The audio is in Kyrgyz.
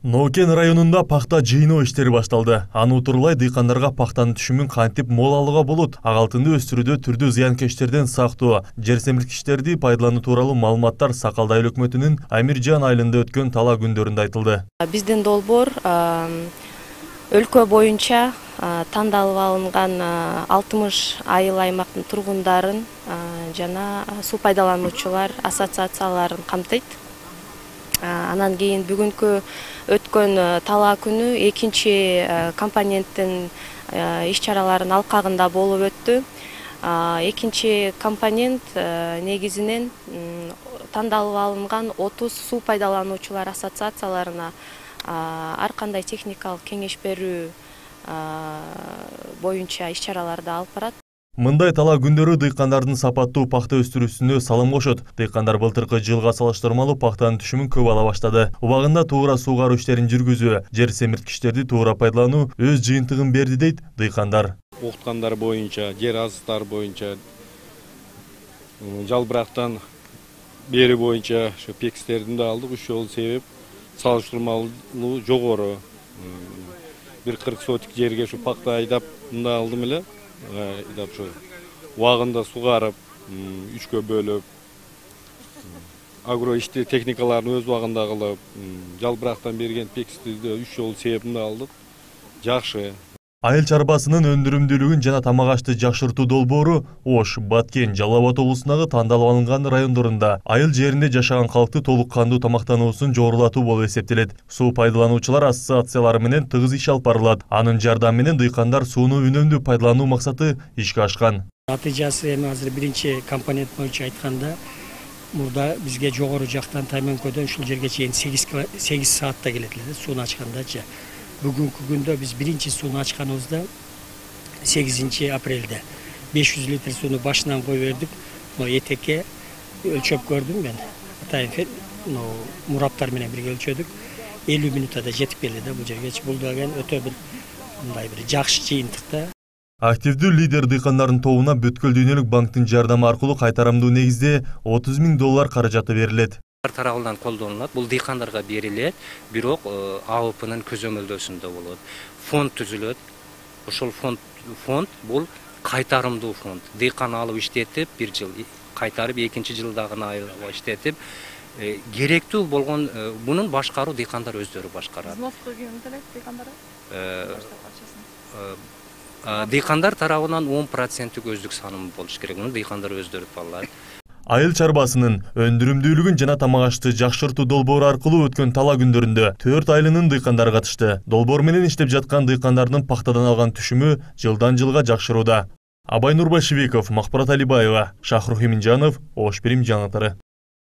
Нокен районунда пахта жыйноо иштери башталды. Аны утурлай дыйкандарга пахтанын түшүмүн кантип мол алууга болот, агалтынды өстүрүүдө түрдүү зыянкечтерден сактоо, жер семирткичтерди пайдалануу тууралуу маалыматтар Сакалды айыл өкмөтүнүн Амиржан айылында өткөн талаа күндөрүндө айтылды. Биздин долбоор өлкө боюнча тандалып алынган 60 айыл аймактын тургундарын жана суу пайдалануучулар ассоциацияларын камтыйт. Анан кийин бүгүнкү өткөн талаа күнү экинчи компоненттин иш-чараларынын алкагында болуп өттү. Экинчи компонент негизинен тандалып алынган 30 суу пайдалануучулар ассоциацияларына ар кандай техникалык кеңеш берүү боюнча иш-чараларды алып барат. Мындай талаа күндөрү дыйкандардын сапаттуу пахта өстүрүүсүнө салым кошот. Дыйкандар былтыркы жылга салыштырмалуу пахтанын түшүмүн көп ала баштады. Убагында туура суугаруу иштерин жүргүзүү, жер семирткичтерди туура пайдалануу өз жыйынтыгын берди дейт дыйкандар. Окуткандар боюнча, жер азыктары боюнча, жалбырактан бери боюнча ошо пекстердин да алдык. Ошол себеп салыштырмалуу жогору. 140 сотик жерге ушу пахта айдап мында алдым эле. Убагында сугарып, 3кө бөлүп, агро ишти техникаларын өз убагында кылып, жалбырактан берген пексти 3 жолу себебинде алдык. Жакшы. Айыл чарбасынын өндүрүмдүүлүгүн жана тамак ашты жакшыртуу долбоору Ош, Баткен, Жалал Абад облусундагы тандалып алынган райондорунда айыл жеринде жашаган калкты толук кандуу тамактануусун жогорулатуу болуп эсептелет. Суу пайдалануучулар ассоциациялары менен тыгыз иш алып барылат. Анын жардамы менен дыйкандар сууну үнөмдүү пайдалануу максаты ишке ашкан. Натыйжасы эми азыр биринчи компонент боюнча айтканда, мурда бизге жогору жактан Таймөнкөдөн ушул жерге чейин 8 саатта келет эле сууну ачкандачы. Бүгүнкү күндө биз биринчи сууну ачканыбызда 8 апрелде 500 литр сууну башынан коюп бердик. Этекке өлчөп көрдүм мен. Атайын мураптар менен бирге өлчөдүк. 50 минутада жетип келди да бул жерге. Бул деген өтө бир мындай бир жакшы жыйынтыкта. Активдүү лидер дыйкандардын тобуна Бүткүл дүйнөлүк банктын жардамы аркылуу кайтарамдуу негизде $30 000 каражаты берилет. Тарабынан колдонулат. Бул дыйкандарга берилет, бирок АОПнын көзөмөлдөсүндө болот. Фонд түзүлөт. Ошол фонд бул кайтарымдуу фонд. Дыйкан алып иштетип, 1 жыл кайтарып, экинчи жылдагына иштетип, керектүү болгон мунун башкаруу дыйкандар өздөрү башкарат. Дыйкандар тарабынан 10% өздүк саным болуш керек. Муну дыйкандар өздөрү таллайт. Айыл чарбасынын өндүрүмдүүлүгүн жана тамак ашты жакшыртуу долбоору аркылуу өткөн талаа күндөрүндө 4 айылынын дыйкандары катышты. Долбоор менен иштеп жаткан дыйкандардын пахтадан алган түшүмү жылдан жылга жакшырууда. Абай Нурбашевиков, Махпарат Алибаева, Шахрух Иминжанов, Ош Бирим жаңылыктары.